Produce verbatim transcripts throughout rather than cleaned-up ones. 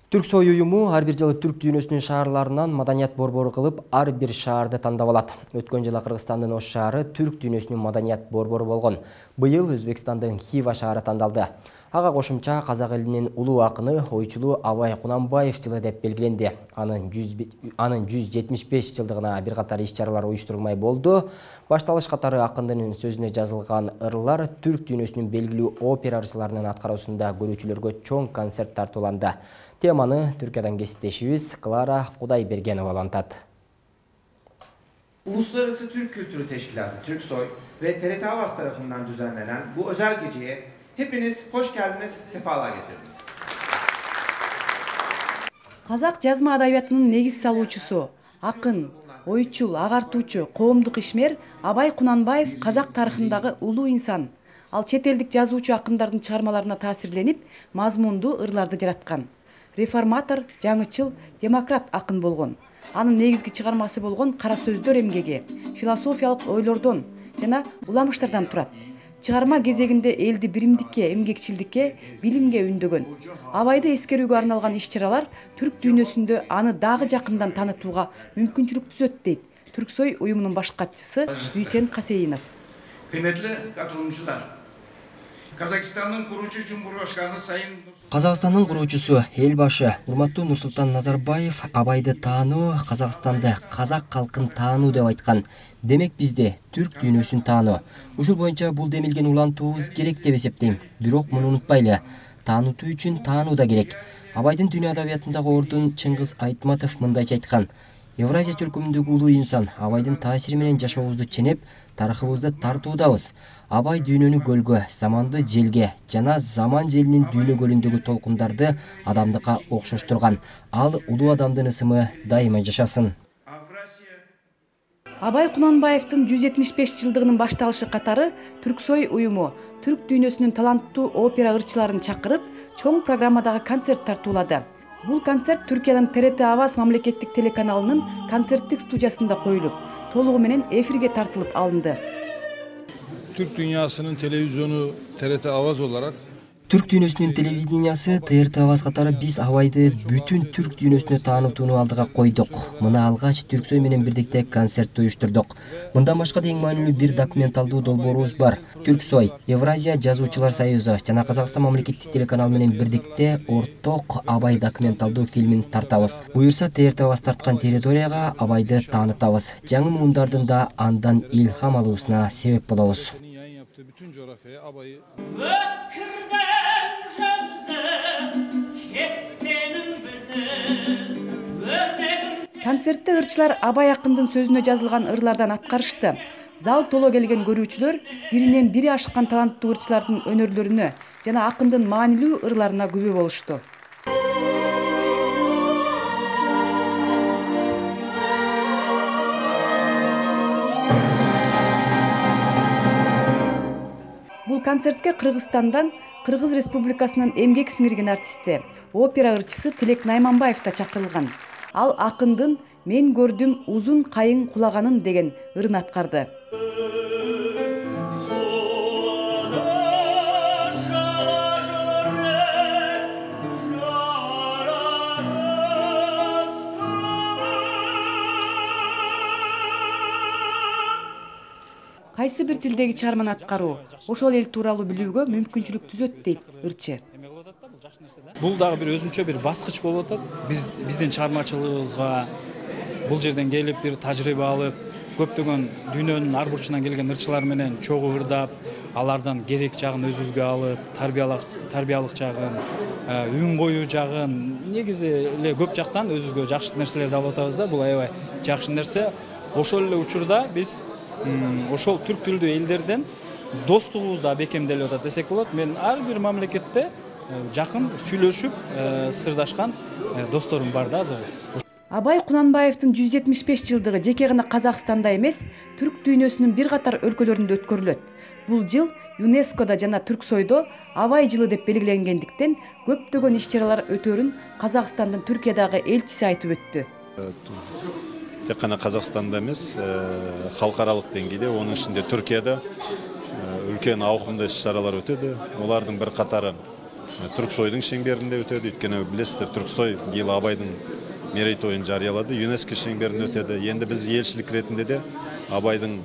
Түрксой уюму ар бир жылы түрк дүйнөсүнүн шаарларынан маданият борбору кылып, ар бир шаарды тандап алат. Өткөн жылы Кыргызстандын Ош шаары түрк дүйнөсүнүн маданият борбору болгон. Быйыл Өзбекстандын Хива шаары тандалды. Ага кошумча казак элинин улуу акыны, ойчулу Абай Кунанбаев жылы деп белгиленди. Анын жүз жетимиш беш жылдыгына бир катар иш-чаралар уюштурулмай болду. Башталыш катары акындын сөзүнө жазылган ырлар түрк дүйнөсүнүн белгилүү опера ырчыларынын аткаруусунда көрүүчүлөргө чоң концерт тартууланды. Теманы Türkiye'den кесиптешибиз Кlara Кудайбергенова алантат. Uluslararası Türk Kültürü Teşkilatı Türksoy ve T R T Avaz tarafından düzenlenen bu özel geceye hepiniz hoş geldiniz, sefalar getirdiniz. Казак жазма адабиятынын негиз салуучусу, акын, ойчул, агартуучу, коомдук ишмер Абай Кунанбаев казак тарыхындагы улуу инсан. Ал чет элдик жазуучу акындардын чыгармаларына таасирленип, мазмундуу ырларды жараткан. Реформатор, жаңычыл, демократ акын болгон. Анын негизги чыгармасы болгон Кара сөздөр эмгеги, философиялык ойлордон жана уламыштардан турат. Чыгарма кезегинде элди биримдикке, эмгекчилдикке, билимге үндөгөн. Абайды эскерүүгө арналган иш-чаралар түрк дүйнөсүндө аны дагы жакындан таанытууга мүмкүнчүлүк түзөт дейт Түрксой уюмунун баш катчысы Дүйсен Касейинов. Кыймметтүү катылымчылар, Казакстандын куруучу Жумгурбашканы Сайын Казакстандын куруучусу, эл башы урматтуу Нурсултан Назарбаев Абайды таануу, Казакстанды, казак калкын таануу деп айткан. Демек бизде түрк дүйнөсүн таануу. Ушул боюнча бул демилген улантуубуз керек деп эсептейм. Бирок муну унутпайлы. Таанытуу үчүн таануу да керек. Абайдын дүйнө адабиятындагы ордун Чыңгыз Айтматов мындайча айткан: Евразия чөлкөмүндөгү улуу инсан Абайдын таасири менен жашообузду ченеп, тарыхыбызды тартуудабыз. Абай дүйнөнү көлгө, заманды желге жана заман желинин дүйнө көлүндөгү толкундарды адамдыкка окшоштурган. Ал улуу адамдын ысымы дайыма жашасын. Абай Кунанбаевдин жүз жетимиш беш жылдыгынын башталышы катары Түрксой уюму түрк дүйнөсүнүн таланттуу опера ырчыларын чакырып, чоң программадагы концерт тартуулады. Бул концерт Түркиянын Т Р T Аваз мамлекеттик телеканалынын концерттик студиясында коюлуп, толугу менен эфирге тартылып алынды. Türk dünyasının televizyonu T R T Avaz olarak Түрк дүйнөсүнүн телевидениясы Т Р T Аваз катары биз Абайды бүтүн түрк дүйнөсүнө таанытууну алдыга койдук. Мына алгач Түрксой менен бирдикте концерт уюштурдук. Мындан башка да эң маанилүү бир документалдуу долбоорубуз бар. Түрксой, Евразия жазуучулар союзу жана Казакстан мамлекеттик телеканалы менен бирдикте орток Абай документалдуу фильмин тартабыз. Буюрса Т Р T Аваз тарткан территорияга Абайды таанытабыз. Жаңы муундардын да андан илхам алуусуна себеп болобуз. bütün coğrafyaya Abay'ı Концертте ырчылар Абай акындын сөзүнө жазылган ырлардан аткарышты. Зал толо келген көрүүчүлөр биринен бири ашкан таланттуу ырчылардын өнөрлөрүнө жана акындын маанилүү ырларына күбө болушту. Бул концертке Кыргызстандан Кыргыз Республикасынын эмгек сиңирген артисти, опера ырчысы Тилек Найманбаев да чакырылган. Ал акындын "Мен көрдүм узун кайың кулаганын" деген ырын аткарды. Кайсы бир тилдеги чыгарманы аткаруу ошол эл тууралуу билүүгө мүмкүнчүлүк түзөт дейт ырчы. Бул дагы бир өзүнчө бир баскыч болуп атат. Биз биздин чыгармачылыгыбызга бул жерден келип бир тажрыйба алып, көптөгөн дүйнөнүн ар бурчунан келген ырчылар менен чогуу ырдап, алардан керек жагын өзүбүзгө алып, тарбиялык тарбиялык жагын, үн коюу жагын, негизи эле көп жактан өзүбүзгө жакшы нерселерди алып атабыз да. Бул аябай жакшы нерсе. Ошол эле учурда биз ошол түрк тилдүү элдерден достугубуз да бекемделип атат десек болот. Мен ар бир мамлекетте жакын сүйлөшүп, сырдашкан досторум бар да азыр. Абай Кунанбаевдин жүз жетимиш беш жылдыгы жеке гана Казакстанда эмес, түрк дүйнөсүнүн бир катар өлкөлөрүндө өткөрүлөт. Бул жыл ЮНЕСКОда жана Түрксойдо Абай жылы деп белгиленгендиктен көптөгөн иш-чаралар өтөрүн Казакстандын Түркиядагы элчиси айтып өттү. Тек қана Қазақстанда емес, халықаралық деңгейде, оның ішінде Түркияда үлкен ауқымды іс-шаралар өтеді. Олардың бір қатары Түрксойдун шеңберинде өтөдү. Өйткөнү билесиздер, Түрксой быйыл Абайдын мерейтойун жарыялады. ЮНЕСКО шеңберинде өтөдү. Енді біз елшілік ретінде де Абайдың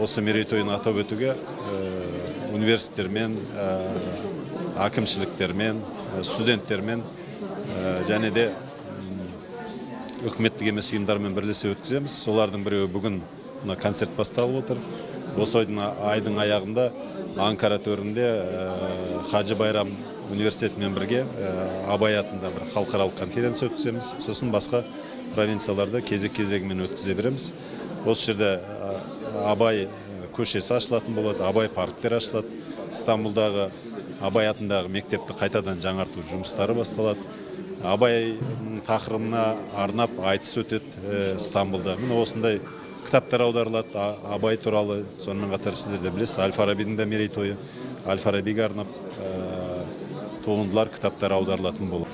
осы мерейтойын атап өтүүгө университеттермен, акимчиликтермен, студенттермен және де өкмөттүк эмес уюмдармен бирлесе өткүзөбүз. Солардын бирөө бүгүн концерт басталып отыр. Осы айдың аяғында Анкара төрүндө Хажы Байрам университетімен бірге Абай атында бір халықаралық конференция өткіземіз. Сосын басқа провинцияларда кезек-кезегімен өткізе береміз. Осы жерде Абай көшесі ашылатын болады, Абай парктер ашылады. Стамбулдағы Абай атындағы мектепті қайтадан жаңарту жұмыстары басталады. Абай тақырыбына арнап айтыс өтеді Стамбулда. Міне осындай кітаптар аударылады Абай туралы. Сонымен қатар сіздер де білесіз, Аль-Фарабидің да мерейтойы. Аль-Фарабиге арнап туындылар, кітаптар аударылатын болады.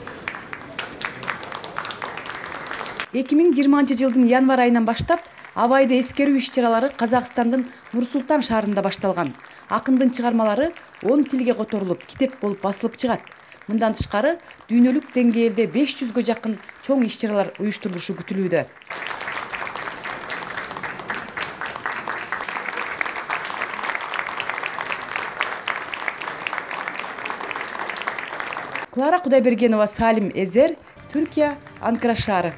эки миң жыйырманчы жылдын январь айынан баштап Абайды эскерүү иш-чаралары Казакстандын Нур-Султан шаарында башталган. Акындын чыгармалары он тилге которулуп, китеп болуп басылып чыгат. Мындан тышкары дүйнөлүк деңгээлде беш жүзгө жакын чоң иш-чаралар уюштурулушу күтүлүүдө. Клара Кудайбергенова, Салим Эзер, Түркия, Анкара шаары.